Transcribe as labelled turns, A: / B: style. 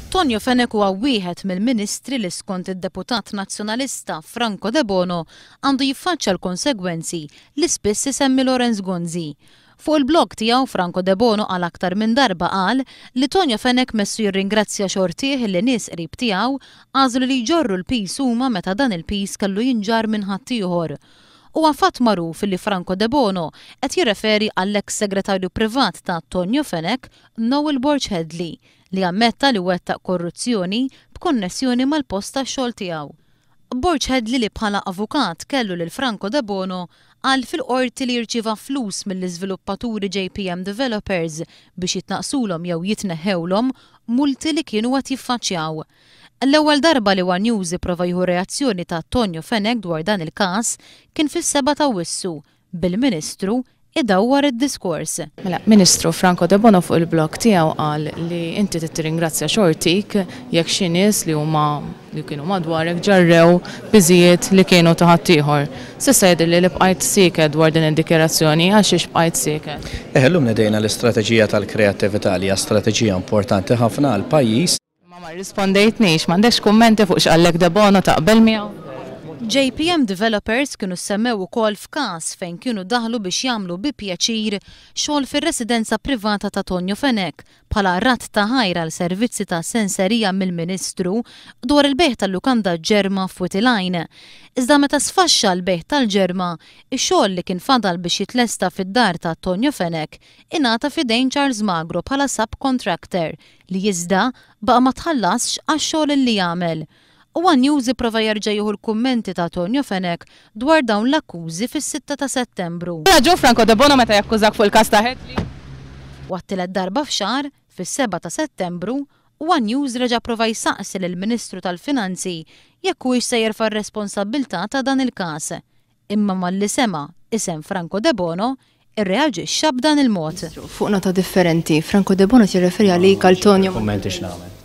A: Tonio Fenech huwa wieħed mill-Ministri li skont id-Deputat Nazzjonalista Franco Debono għandu jiffaċċja l-konsegwenzi li spiss isemmi Lawrence Gonzi. Fuq il-blog tiegħu Franco Debono għal aktar minn darba qal li Tonio Fenech messu jirringrazzja xortih li nies qrib tiegħu għażlu li jġorru l-piż huma meta dan il-piż kellu jinġarr minn ħaddieħor. Huwa fatt magħruf li Franco Debono qed jirreferi għall-eks segretarju privat ta' Tonio Fenech, Noel Borg Hedley, li ammetta li wettaq korruzzjoni b'konnessjoni mal-post tax-xogħol tiegħu. Borg Hedley li bħala avukat kellu lil Franco Debono qal fil-Qorti li rċieva flus mill-iżviluppaturi JPM Developers biex jitnaqqsulhom jew jitneħħewlhom multi li kienu qed jiffaċċjaw. L-ewwel darba li one News ipprova jieħu reazzjoni ta' Tonio Fenech dwar dan il-każ kien fis-sebgħa t'Awwissu bil-Ministru idawwar id-diskors.
B: Mela, Ministru, Franco Debono fuq il-blog tiegħu qal li inti trid tirringrazzja xortik jekk xi nies li huma li kienu madwarek ġarrew piżijiet li kienu ta' ħaddieħor. S'issa jidhirli li bqajt sieket dwar din id-dikjarazzjoni, għal xiex bqajt sieket?
C: Eħe, llum nedejna l-istrateġija tal-kreattività li hija strateġija importanti ħafna għall-pajjiż.
B: Imma ma rrispondejtnix, m'għandekx kummenti fuq x'qallek Debono, taqbel miegħu?
A: JPM Developers kienu ssemmew ukoll f'każ fejn kienu daħlu biex jagħmlu bi pjaċir xogħol fir-residenza privata ta' Tonio Fenech bħala radd ta' ħajr għal servizzi ta' senserija mill-Ministru dwar il-bejgħ tal-lukanda Ġerma f'Wied il-Għajn. Iżda meta sfaxxa l-bejgħ tal-Ġerma, ix-xogħol li kien fadal biex jitlesta fid-dar ta' Tonio Fenech ingħata f'idejn Charles Magro bħala sub-contractor li iżda baqa' ma tħallasx għax-xogħol li għamel. One News ipprova jerġa' jieħu l-kummenti ta' Tonio Fenech dwar dawn l-akkużi fis-sitta ta' Settembru.
B: Raġun Franco Debono meta jakkużak fuq il-każ ta' Hedley?
A: U għat-tielet darba f'xahar, fis-sebgħa ta' Settembru, One News reġa' pprova jsaqsi lill-Ministru tal-Finanzi jekk huwiex se jerfa' r-responsabbiltà ta' dan il-każ. Imma malli sema' isem Franco Debono, irreaġixxa b'dan il-mod.
D: Fuq nota differenti, Franco Debono qed jirreferi għalik għal Tonio.
C: Kummenti x'nagħmel.